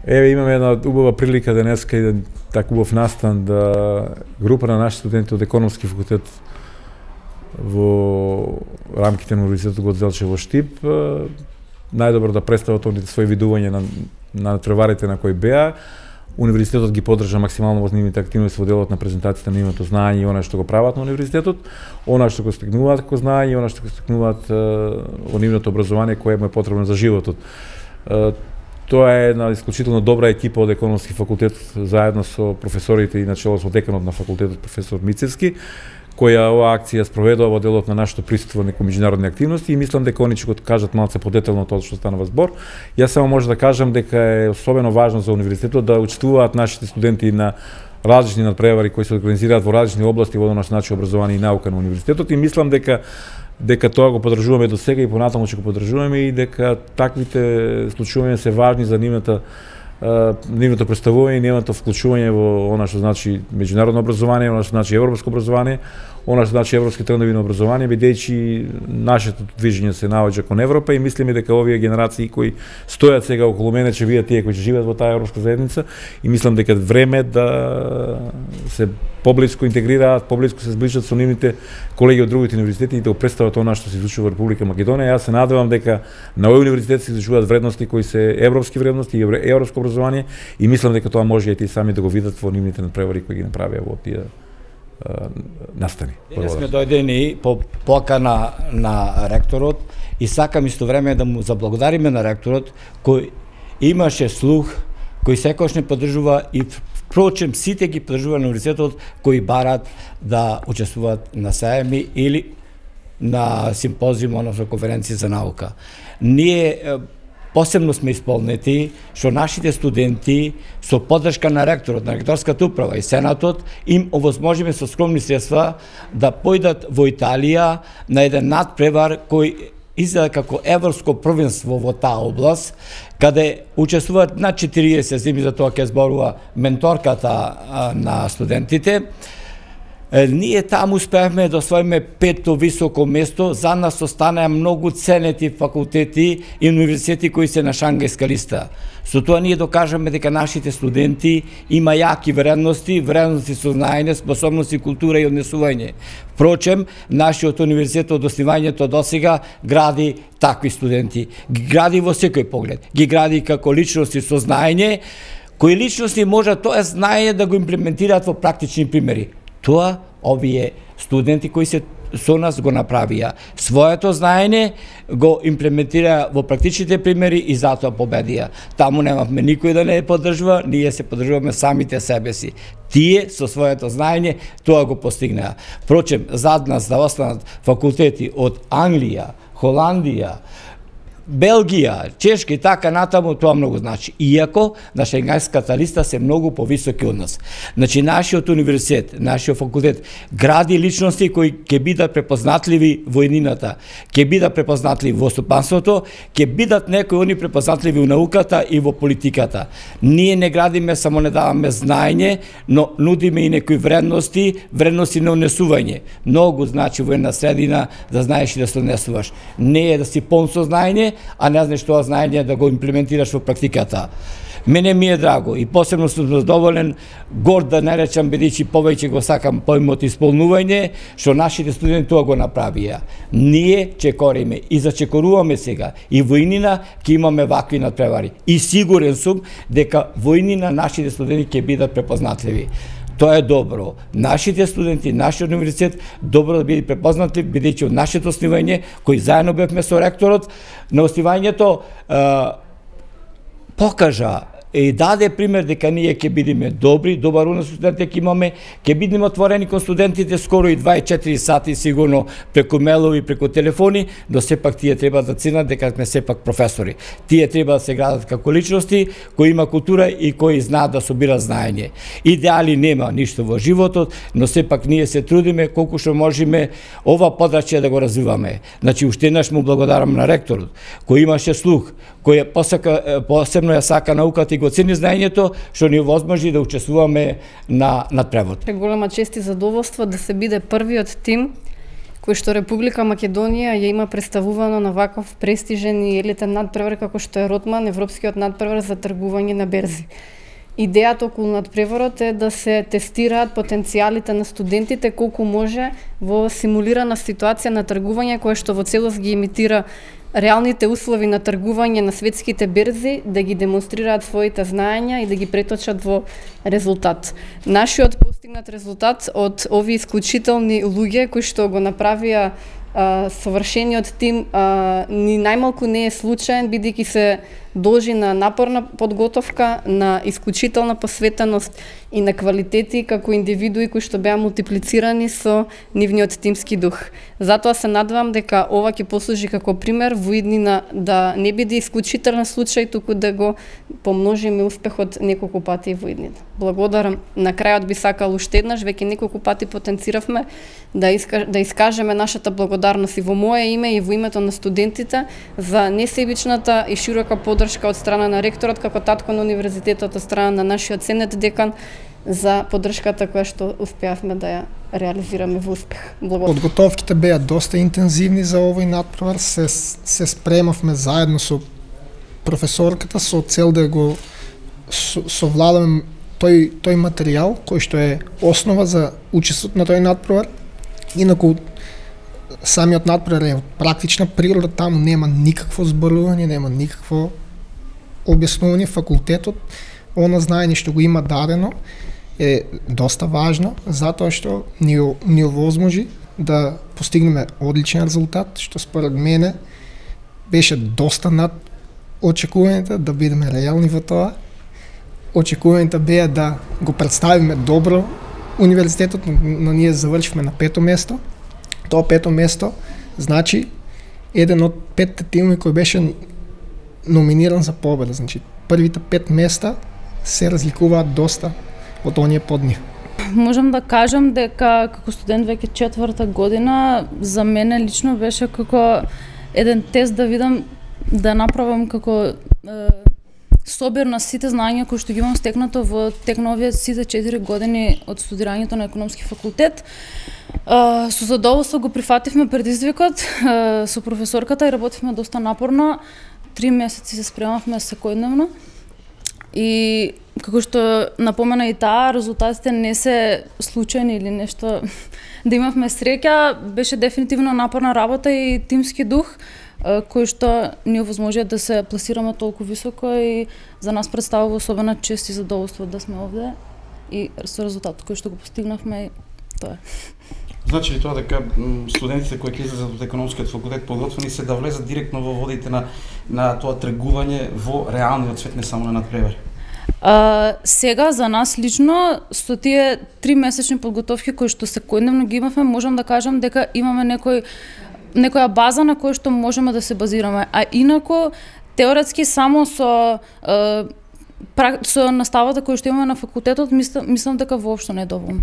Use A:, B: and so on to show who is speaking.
A: Еве имаме една убава прилика денеска и така убав настан да група на наши студенти од економски факултет во рамките на Универзитетот Гоце во Штип најдобро да представат оние своји видувања на треварите на кои беа. Универзитетот ги поддржа максимално во нивните активности во делот на презентацијата на нивното знаење и она што го прават на универзитетот, она што го стекнуваат како знаење, она што го стекнуваат во нивното образование кое му е потребно за животот. Тоа е една исклучително добра екипа од економски факултет заедно со професорите и начело со деканот на факултетот професор Мицевски, која оваа акција спроведува во делот на нашето присуство на меѓународни активности и мислам дека они ќе го кажат малце подетелно тоа што станува збор. Јас само може да кажам дека е особено важно за универзитетот да учествуваат нашите студенти на различни надпревари кои се организираат во различни области во наш начин образование и наука на универзитетот и мислам дека тоа го поддржуваме до сега и понатаму ќе го поддржуваме и дека таквите случувања се важни за нивното представување и нивното вклучување во она што значи меѓународно образование, она што значи европско образование, она што значи европски трендови на образование, бидејќи нашето движење се наоѓа кон Европа и мислиме дека овие генерации кои стојат сега околу мене ќе видат тие кои ќе живеат во таа европска заедница и мислам дека време да се поблиску интегрираат, поблиску се зближат со нивните колеги од другите универзитети и да го представат она што се изучува во Република Македонија. Јас се надевам дека на овој универзитет се изучуваат вредности кои се европски вредности и европско образование и мислам дека тоа може и тие сами да го видат во нивните надпревари кои ги направија во тие настани.
B: Денес сме дојдени по покана на ректорот и сакам исто време да му заблагодариме на ректорот кој имаше слух, кој секогаш не поддржува и впрочем сите ги поддржува на универзитетот кои барат да учествуваат на саеми или на симпозиум, односно конференција за наука. Ние посебно сме исполнети што нашите студенти со поддршка на ректорот, на ректорската управа и сенатот им овозможиме со скромни средства да појдат во Италија на еден надпревар кој изгледа како европско првенство во таа област, каде учествуваат над 40 зими, за тоа ќе зборува менторката на студентите. Ние таму успеавме да освоиме 5-то високо место, за нас останаа многу ценети факултети и универзитети кои се на Шангајска листа. Со тоа ние докажаме дека нашите студенти има јаки вредности со знаење, способности, култура и однесување. Впрочем, нашиот универзитет од основањето досега гради такви студенти. Ги гради во секој поглед. Ги гради како личности со знаење, кои личности можат тоа знаење да го имплементираат во практични примери. Тоа овие студенти кои се со нас го направија. Своето знаење го имплементира во практичните примери и затоа победија. Таму немавме никој да не поддржува, ние се поддржуваме самите себе си. Тие со своето знаење тоа го постигнаа. Впрочем, зад нас да останат факултети од Англија, Холандија, Белгија, Чешка и така натаму, тоа многу значи. Иако на Шенгенската листа се многу повисоки од нас. Значи, нашиот универзитет, нашиот факултет гради личности кои ќе бидат препознатливи во еднината, ќе бидат препознатливи во стопанството, ќе бидат некои они препознатливи во науката и во политиката. Ние не градиме, само не даваме знаење, но нудиме и некои вредности на унесување. Многу значи во една средина да знаеш и да се унесуваш. Не е да си полн со знаење, а не знаеш тоа знаење да го имплементираш во практиката. Мене ми е драго и посебно сум задоволен, горд да не речам, бидејќи повеќе го сакам поимот исполнување, што нашите студенти тоа го направија. Ние чекориме и зачекоруваме сега и во иднина ќе имаме вакви надпревари. И сигурен сум дека во иднина нашите студенти ќе бидат препознатливи. Тоа е добро. Нашите студенти, нашиот универзитет добро да биде препознатли, бидејќи од нашето основање, кој заедно бевме со ректорот, на основањето покажа и даде пример дека ние ќе бидеме добри, добар унос студенти ќе имаме, ќе бидеме отворени кон студентите скоро и 24 сати сигурно преку мелови, преку телефони, но сепак тие треба да ценат дека сме сепак професори. Тие треба да се градат како личности кои има култура и кои знаат да собира знаење. Идеали нема ништо во животот, но сепак ние се трудиме колку што можеме ова подрачје да го развиваме. Значи уште еднаш му благодарам на ректорот кој имаше слух, кој посебно ја сака науката и го цени знаењето, што ни овозможи да учествуваме на превод.
C: Голема чест и задоволство да се биде првиот тим кој што Република Македонија ја има представувано на ваков престижен и елитен надпревар како што е Ротман, европскиот надпревар за тргување на берзи. Идејата околу надпреварот е да се тестираат потенцијалите на студентите колку може во симулирана ситуација на тргување која што во целост ги имитира реалните услови на тргување на светските берзи, да ги демонстрираат своите знаења и да ги преточат во резултат. Нашиот постигнат резултат од овие исклучителни луѓе кои што го направија совршениот тим ни најмалку не е случаен, бидејќи се должи на напорна подготовка, на исклучителна посветеност и на квалитети како индивидуи кои што беа мултиплицирани со нивниот тимски дух. Затоа се надевам дека ова ќе послужи како пример во иднина да не биде исклучителен случај, туку да го помножиме успехот неколку пати во иднина. Благодарам. На крајот би сакал уште еднаш, веќе неколку пати потенциравме да искажеме нашата благодарност и во мое име и во името на студентите за несебичната и широка поддршка од страна на ректорот како татко на универзитетот, од страна на нашиот сенет декан за поддршката која што успеавме да ја реализираме во успех. Благодарам.
D: Подготовките беа доста интензивни за овој надпревар, се спремавме заедно со професорката со цел да го совладаме тој материјал кој што е основа за учеството на тој надпревар. Инаку самиот надпревар е од практична природа, таму нема никакво зборување, нема никакво објаснување. Факултетот, она знаење што го има дадено е доста важно, затоа што ни овозможи да постигнеме одличен резултат, што според мене беше доста над очекувањата, да бидеме реални во тоа. Очекувањата беа да го представиме добро универзитетот, но ние завршивме на 5-то место. Тоа 5-то место значи еден од 5 тимови кој беше номиниран за победа. Значи првите 5 места се разликуваат доста од оние под нив.
E: Можам да кажам дека како студент веќе 4-та година за мене лично беше како еден тест да видам, да направам како собир на сите знаења кои што ги имам стекнато во тек на овие сите 4 години од студирањето на економски факултет. Со задоволство го прифативме предизвикот со професорката и работивме доста напорно. 3 месеци се спремавме секојдневно. И како што напомена и таа, резултатите не се случајни или нешто да имавме среќа, беше дефинитивно напорна работа и тимски дух кој што ни овозможија да се пласираме толку високо и за нас представува особена чест и задоволство да сме овде и со резултатот кој што го постигнавме, тоа е.
F: Значи ли тоа дека студентите кои ќе излезат од економскиот факултет подготвени се да влезат директно во водите на тоа тргување во реалниот свет, не само на надпревари?
E: Сега за нас лично со тие 3 месечни подготовки кои што секојдневно ги имавме, можам да кажам дека имаме некоја база на која што можеме да се базираме, а инаку теоретски само со наставата која што имаме на факултетот мислам дека воопшто не е доволно.